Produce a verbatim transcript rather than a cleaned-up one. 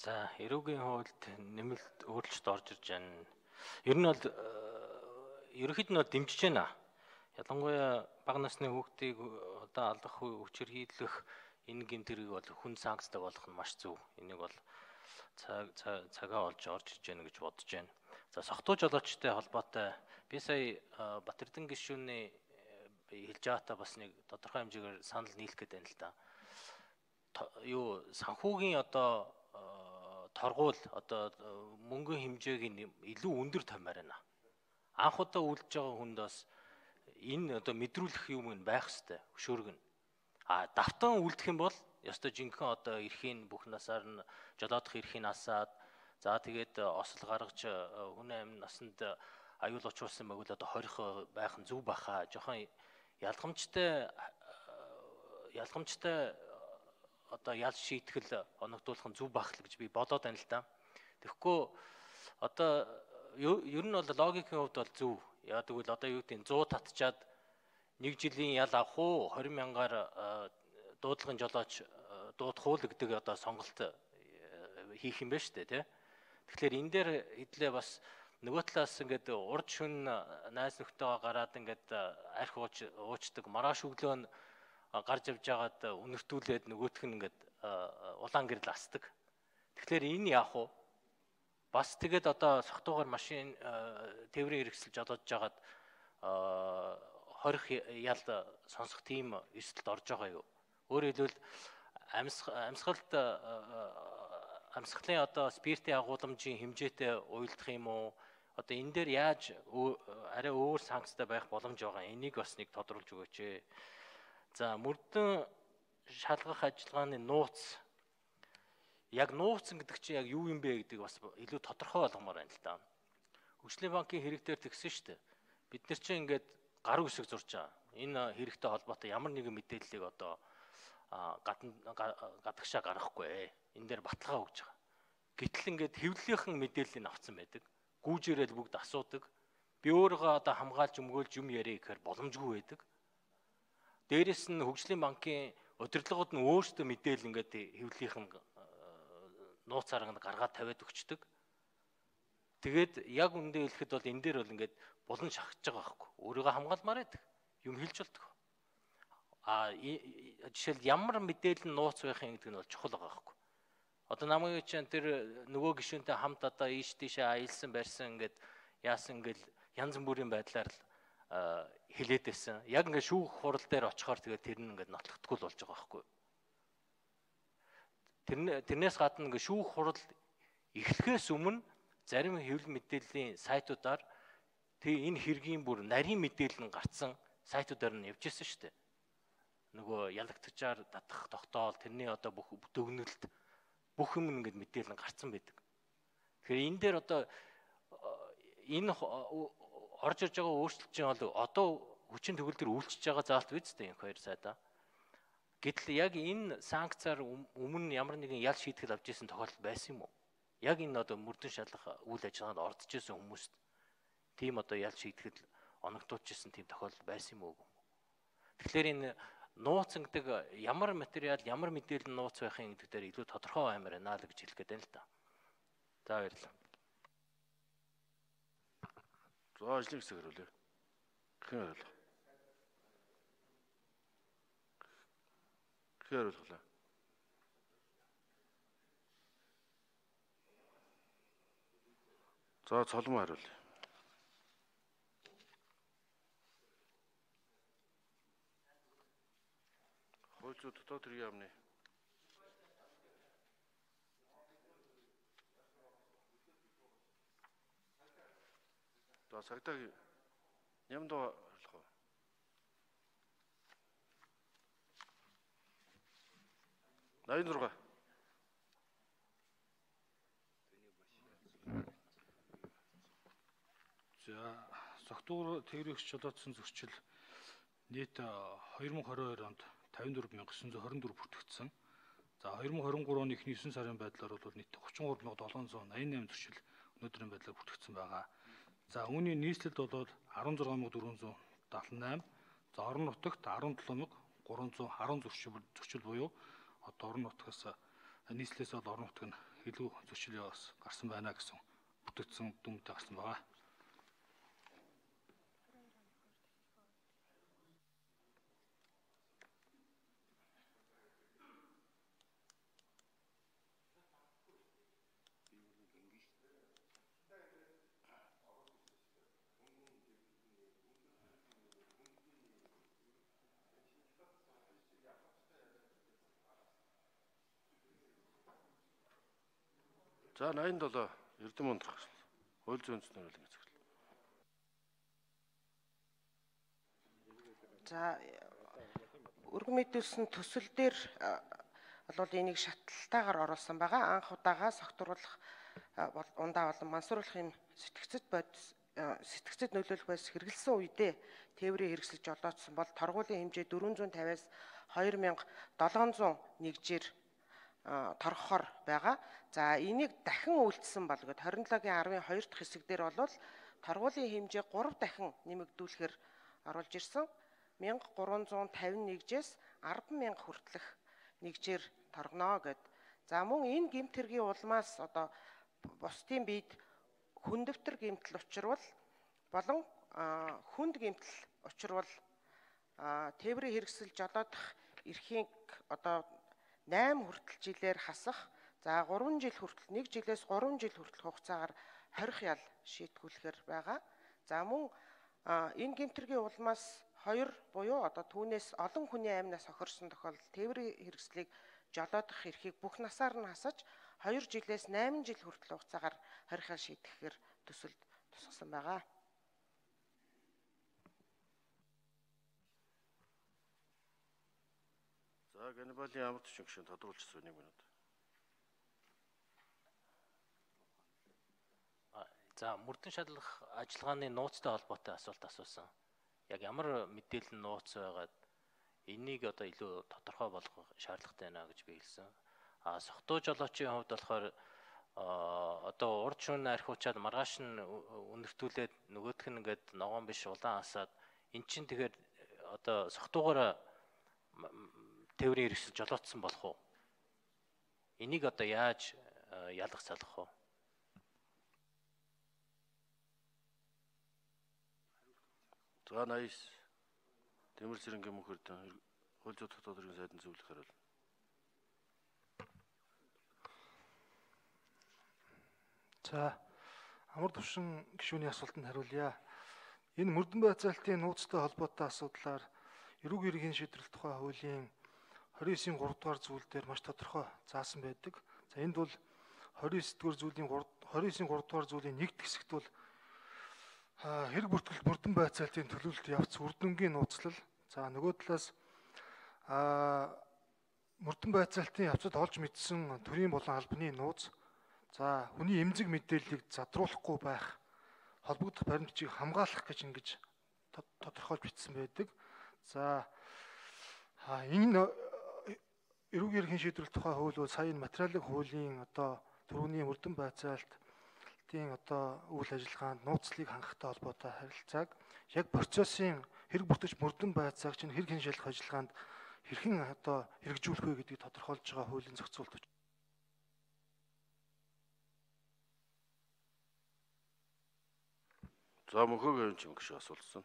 За, эрүүгийн хуульд нэмэлт өөрчлөлт орж ирж байна. Ер нь бол ерөнхийд нь дэмжиж байна. Ялангуяа бага насны хүүхдийг одоо алдах хүчирхийлэх энэ гэмт хэрэг бол хүн санкцтай болох нь маш зөв. Энийг бол цаг цагаа олж орж ирж байна гэж бодож байна. За, согтуу жолоочтой холбоотой би сая Батэрдэн гишүүний хэлж байгаатаа бас нэг тодорхой хэмжээгээр санал нийлэх гээд байна л да. Юу санхүүгийн одоо торгуул одоо мөнгөний хэмжээг нь илүү өндөр тавьмаар байна. Анх удаа үлдэж байгаа хүнд бас энэ одоо мэдрүүлэх юм байх хэвээр хөшөөргөн. А давтан үлдэх юм бол ёстой жинхэнэ одоо эрхийн бүх насаар нь жолоодох эрхийн насаад за тэгээд осол гаргаж хүн амь насанд аюул учруулсан байвал одоо хорих байх нь зөв баха. Жохон ялгамжтай ялгамжтай одоо ял шийтгэл оногдуулах нь зөв байх л гэж би бодоод байна л да. Тэгэхгүй одоо ер нь бол логикийн хувьд бол зөв. Яа тэгвэл одоо юу гэдэг нь сто татчаад нэг жилийн ял авах уу двадцать мянгаар дуудлагын жолооч дуудах уу гэдэг одоо сонголт хийх юм байна шүү дээ, тий. Тэгэхээр энэ дээр хэдлээ бас нөгөө талаас ингээд урд шүн найз нөхдөйгөө гараад ингээд арх ууч уучдаг маргааш өглөө нь гарч явж байгаад үнэртүүлээд нөгөөх нь ингээд улаан гэрэл асдаг. Тэгэхээр энэ яах вэ? Бас тэгээд одоо согтуугаар машин тээврийн хэрэгсэл жолоодж байгаад хорих ял сонсох тийм эрсдэлд орж байгаа юу? Өөрөөр хэлбэл амьсгалд амьсгалын одоо спиртийн агуулмжийн хэмжээтэй уйлдах юм уу? Одоо энэ дээр яаж арай өөр санкцтай байх боломж байгаа? Энийг бас нэг тодруулж өгөөч ээ. За, мөрдөн шалгах ажиллагааны нууц. Яг нууцсан гэдэг чинь яг юу юм бэ гэдэг бас илүү тодорхой болгомоор байна л да. Хөгжлийн банкын хэрэг дээр тэгсэн шүү дээ. Бид нар чинь ингээд гар үсэг зурж байгаа. Энэ хэрэгтэй холбоотой ямар нэгэн мэдээллийг одоо гадна гадагшаа гаргахгүй ээ. Энэ дээр баталгаа өгж байгаа. Гэтэл ингээд хэвлэлийнхэн мэдээллийг авцсан байдаг. Гүүжээрэл бүгд асуудаг. Би өөрийгөө одоо хамгаалж өмгөөлж юм яриа гэхээр боломжгүй байдаг. Дээрээс нь хөгжлийн банкын удирдлагууд нь өөрсдөө мэдээлэл ингээд хэвлэлийнхэн нууц арганд гаргаад тавиад өгчдөг. Тэгээд яг үндэ хэлэхэд бол энэ дээр бол ингээд булан шахаж байгаа байхгүй. Өөрийгөө хамгаалмаар байдаг. Юм хэлж болдог. А жишээл ямар мэдээлэл нууц байх юм гэдэг нь бол чухал байгаа байхгүй. Одоо намайг чинь тэр нөгөө гишүүнтэй хамт одоо ийш тийшээ аялсан барьсан ингээд яасан ингээл янз бүрийн байдлаар л хэлээд байсан. Яг ингээд шүүх хурал дээр очихоор тэгээд тэр нь ингээд нотлохдгүй болж байгаа байхгүй. Тэр тэрнээс гадна ингээд шүүх хурал эхлэхээс өмнө зарим хэвлэл мэдээллийн сайтуудаар тэг энэ хэргийн бүр нарийн мэдээлэл нь гарцсан сайтуудаар нь явж ирсэн шүү дээ. Нөгөө ялагтчаар татах тогтоол тэрний одоо бүх дүгнэлт бүх юм ингээд мэдээлэл нь гарцсан байдаг. Тэгэхээр энэ дээр одоо энэ орж ирж байгаа өөрчлөлт чинь бол одоо хүчин төгөл төр үйлчж байгаа заалт биз дээ энэ хоёр сайдаа. Гэтэл яг энэ санкцаар өмнө ямар нэгэн ял шийтгэл авч ирсэн тохиолдол байсан юм уу? Яг энэ одоо мөрдөн шалгах үйл ажиллагаанд ордож ирсэн хүмүүст тийм одоо ял шийтгэл оногдуулж ирсэн тийм тохиолдол байсан юм уу? Тэгэхээр энэ нууц гэдэг ямар материал, ямар мэдээлэл нууц байх юм гэдэг дээр илүү тодорхой баймаар байна л гэж хэлэх гээд байна л да. За, баярлалаа. За, ажлын хэсэг хариулъя. Хэн хариулах? Хэн хариулах? За, цолмоо хариулъя. Хууль зүйн дотоод хэргийн яамны За, сагдаг нямд хариулах уу? найдван зургаан. За, согтуур тээврийгч жолоодсон зөрчил нийт две тысячи двадцать two онд пятьдесят четыре мянга девятьсот двадцать четыре бүртгэгдсэн. За, две тысячи двадцать three оны эхний нine сарын байдлаар бол нийт тридцать три мянга seven hundred eighty-eight зөрчил өнөөдрийн байдлаар бүртгэгдсэн байгаа. За, үүний нийслэлд бол sixteen thousand four hundred seventy-eight. За, орон нутагт seventeen thousand three hundred ten зөрчил зөрчил буюу одоо орон нутгаас нийслэлээс бол орон нутаг нь илүү зөрчил яваас гарсан байна гэсэн бүтээгдсэн дүнтэй гарсан байгаа. За восемьдесят семь Эрдэм ундрах хууль зүйн үндэсний хуулийн захирал. За өргөн мэдүүлсэн төсөл дээр бол энийг шатлалтаагаар оруулсан байгаа. Анх удаага согтруулах ундаа болон мансууруулахын сэтгцэд бодис сэтгцэд нөлөөлөх байс хэрэгэлсэн үедээ тээврийн хэрэгсэл жолоодсон бол торгуулийн хэмжээ дөрвөн зуун тавиас хоёр мянга долоон зуун нэгжээр торгохоор байгаа. За энийг дахин үйлдэлсэн бол гээд двадцать семь-гийн аравын хоёр дахь хэсэг дээр бол торгуулийн хэмжээ гурав дахин нэмэгдүүлэхээр оруулж ирсэн. мянга гурван зуун тавин нэгжээс арван мянга хүртэлх нэгжээр торгоно гэд. За мөн энэ гэмт хэргийн улмаас одоо бусдын биед хүндөвтөр гэмтэл учрвал болон хүнд гэмтэл учрвал тээврийн хэрэгсэл жолоодох эрхийг одоо восемь хүртэл жилээр хасах. За гурван жил хүртэл нэг жилээс гурван жил хүртэл хугацаагаар хорих ял шийтгүүлэхээр байгаа. За мөн энэ гэмтэргийн улмаас хоёр буюу одоо түүнээс олон хүний амнаас хохирсон тохиолдолд тээврийн хэрэгслийг жолоодох эрхийг бүх насаар нь хасаж хоёр жилээс восемь жил хүртэл хугацаагаар хорих ял шийтгэхээр төсөлд тусгасан байгаа. За Ганнибалийн ямар төчин гишүүн тодруулчихсан нэг минут. За мөрдөн шалгах ажиллагааны нууцтай холбоотой асуулт асуусан. Яг ямар мэдээлэл нууц байгаад энийг одоо илүү тодорхой болгох шаардлагатай байна гэж би хэлсэн. А согтуу жолоочийн хувьд болохоор одоо урд шөнө архиучаад маргааш нь үнэртүүлээд нөгөөх нь ингээд ногоон биш улаан асаад эн чинь тэгэхээр одоо согтуугаар тээврийн хэрэгсэл жолоодсон болох уу? Энийг одоо яаж ялгах салгах вэ? За восемьдесят Тэмэр Цэрэнгийн мөнх эрдэн хууль зүйн дотоод хэргийн сайдын зөвлөх хариул. За амар төвшин гишүүний асуултанд хариулъя. Энэ мөрдөн байцаалтын нууцтай холбоотой асуудлаар эрүүг иргэний шийдвэрлэх тухай хуулийн двадцать девятийн гурав дугаар зүйл дээр маш тодорхой заасан байдаг. За энд бол двадцать девять дугаар зүйлийн двадцать девятийн гурав дугаар зүйлийн нэг хэсэгт бол хэрэг бүртгэл мөрдөн байцаалтын төлөвлөлт явц үрдэнгийн нууцлал. За нөгөө талаас мөрдөн байцаалтын явцад олж мэдсэн төрийн болон албаны нууц. За хүний эмзэг мэдээллийг задруулахгүй байх, холбогдох баримтчийг хамгаалах гэж ингэж тодорхойлж бичсэн байдаг. За энэ эрүүг иргэний шийдвэрлэх тухай хууль бол сая материалын хуулийн одоо төрөний мөрдөн байцаалт тийм одоо үйл ажиллагаанд нууцлыг хангахтай холбоотой харилцааг яг процессын хэрэг бүртгэж мөрдөн байцааг чинь хэрэг хяншилах ажиллагаанд хэрхэн одоо хэрэгжүүлэх вэ гэдгийг тодорхойлж байгаа хуулийн зохицуулт. За мөнхөгийн юм гişүү асуулсан.